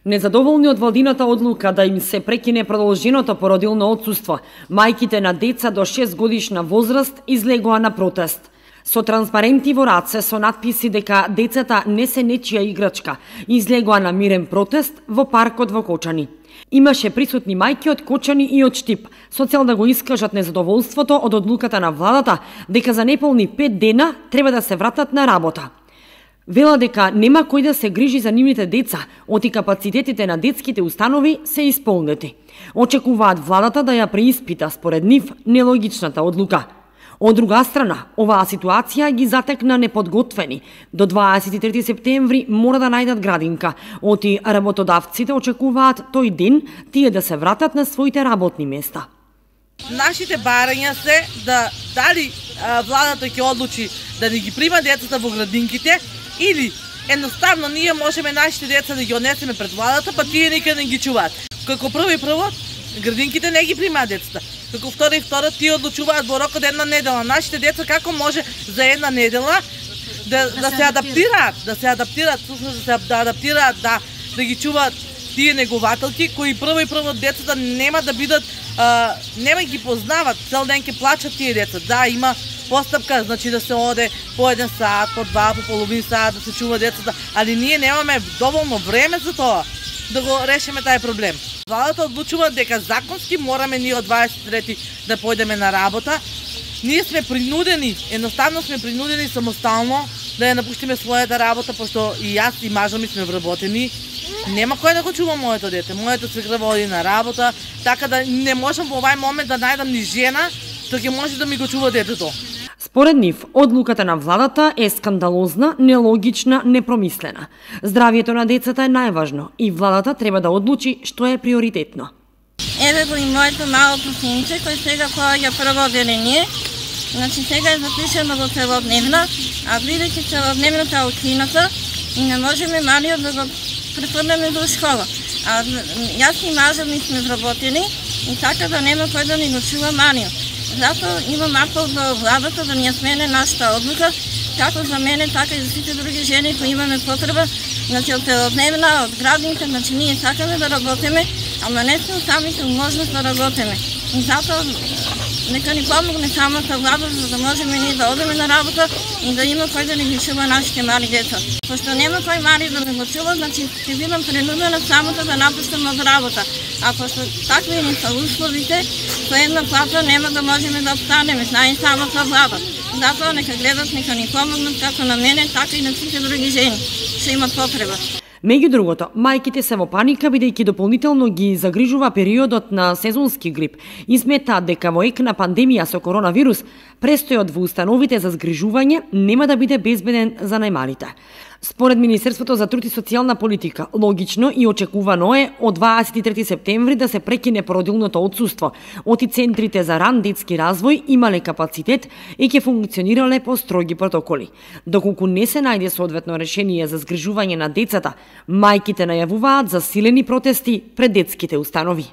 Незадоволни од владината одлука да им се прекине продолженото породилно отсуство, мајките на деца до 6 годишна возраст излегоа на протест. Со транспаренти во раце со надписи дека децата не се нечија играчка, излегоа на мирен протест во паркот во Кочани. Имаше присутни мајки од Кочани и од Штип, со цел да го искажат незадоволството од одлуката на владата дека за неполни 5 дена треба да се вратат на работа. Вела дека нема кој да се грижи за нивните деца, оти капацитетите на детските установи се исполнети. Очекуваат владата да ја преиспита според нив нелогичната одлука. Од друга страна, оваа ситуација ги затекна неподготвени. До 23 септември мора да најдат градинка. Оти работодавците очекуваат тој ден тие да се вратат на своите работни места. Нашите барања се да дали владата ќе одлучи да не ги прима децата во градинките или едноставно ние можеме нашите деца да ги однесеме пред владата, па тие никаде не ги чуваат. Како прво, градинките не ги примаат децата. Како второ, тие одлучуваат во рок од една недела. Нашите деца како може за една недела да се адаптираат, да ги чуваат тие негователки кои прво децата нема да бидат, нема ги познават, цел ден ќе плачат тие деца. Да, има постапка, значи да се оде по 1 сат, по 2, по половин сат да се чува децата, али ние немаме доволно време за тоа да го решиме тај проблем. Владата одлучува дека законски мораме ние од 23 да појдеме на работа. Ние сме принудени, едноставно сме принудени самостално да ја напуштиме својата работа, пошто и јас и мажа ми сме вработени. Нема кој да го чува моето дете. Моето свекрва оди на работа, така да не можам во овај момент да најдам ни жена што ќе може да ми го чува детето. Според нив, одлуката на владата е скандалозна, нелогична, непромислена. Здравието на децата е најважно и владата треба да одлучи што е приоритетно. Еве го и моето малото синче кој сега поаѓа прво одделение. Значи сега е запишено во целодневна, а бидејќи целодневната е укината, не можеме малиот да го префрлеме до школа. А јас и мажа ми сме вработени и така да нема кој да ни го чува малиот. Затоа имам апел до владата да ни смене нашата одлука, како за мене, така и за сите други жени кои имаме потреба, значи од целодневна, од градинка, значи ние сакаме да работиме, ама не сме самите можност да работиме. И затоа нека ни помогне самата влада, за да можеме ние да одеме на работа и да има кој да ни ги чува нашите мали деца. Пошто нема кој мали да ни го чува, значи ќе бидам принудена самата да напуштам од работа. А пошто такви ни са условите, со една плата нема да можеме да обстанеме, знае самата влада. Затоа нека гледат, нека ни помогнат како на мене, така и на сите други жени што имат потреба. Меѓу другото, мајките се во паника бидејќи дополнително ги загрижува периодот на сезонски грип и сметаат дека во ек на пандемија со коронавирус, престојот во установите за згрижување нема да биде безбеден за најмалите. Според Министерството за труд и социјална политика, логично и очекувано е од 23 септември да се прекине породилното отсуство. Оти центрите за ран детски развој имале капацитет и ќе функционирале по строги протоколи. Доколку не се најде соодветно решение за згрижување на децата, мајките најавуваат засилени протести пред детските установи.